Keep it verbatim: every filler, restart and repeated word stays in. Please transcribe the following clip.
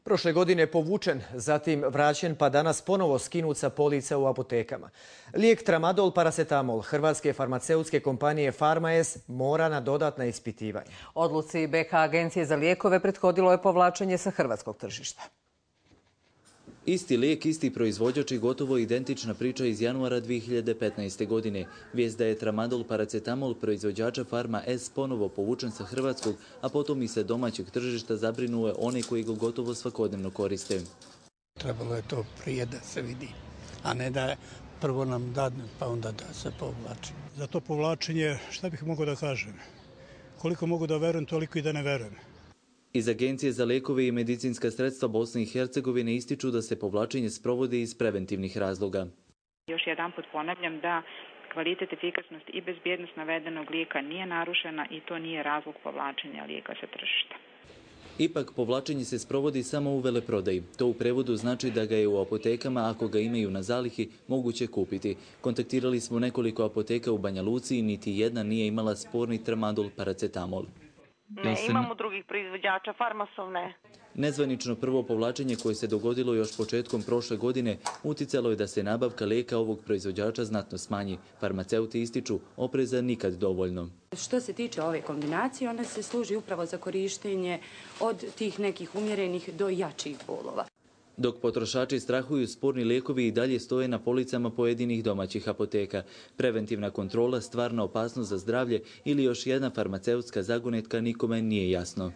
Prošle godine povučen, zatim vraćen pa danas ponovo skinut sa polica u apotekama. Lijek tramadol paracetamol hrvatske farmaceutske kompanije Farmaes mora na dodatna ispitivanja. Odluci B K Agencije za lijekove prethodilo je povlačenje sa hrvatskog tržišta. Isti lijek, isti proizvođač i gotovo identična priča iz januara dvije hiljade petnaeste. godine. Vijest da je tramadol paracetamol proizvođača Farma S ponovo povučen sa hrvatskog, a potom i sa domaćeg tržišta zabrinuo je one koji ga gotovo svakodnevno koriste. Trebalo je to prije da se vidi, a ne da je prvo nam dadne pa onda da se povlači. Za to povlačenje, šta bih mogao da kažem? Koliko mogu da verujem, toliko i da ne verujem. Iz Agencije za lijekove i medicinska sredstva Bosne i Hercegovine ističu da se povlačenje sprovodi iz preventivnih razloga. Još jedan put ponavljam da kvalitet, efikasnost i bezbjednost navedenog lijeka nije narušena i to nije razlog povlačenja lijeka sa tržišta. Ipak, povlačenje se sprovodi samo u veleprodaji. To u prevodu znači da ga je u apotekama, ako ga imaju na zalihi, moguće kupiti. Kontaktirali smo nekoliko apoteka u Banja Luci i niti jedna nije imala sporni tramadol paracetamol. Ne, imamo drugih proizvođača, Farmasov ne. Nezvanično prvo povlačenje koje se dogodilo još početkom prošle godine uticalo je da se nabavka lijeka ovog proizvođača znatno smanji. Farmaceuti ističu opreza nikad dovoljno. Što se tiče ove kombinacije, ona se služi upravo za korištenje od tih nekih umjerenih do jačih bolova. Dok potrošači strahuju, sporni lijekovi i dalje stoje na policama pojedinih domaćih apoteka. Preventivna kontrola, stvarna opasnost za zdravlje ili još jedna farmaceutska zagonetka nikome nije jasno.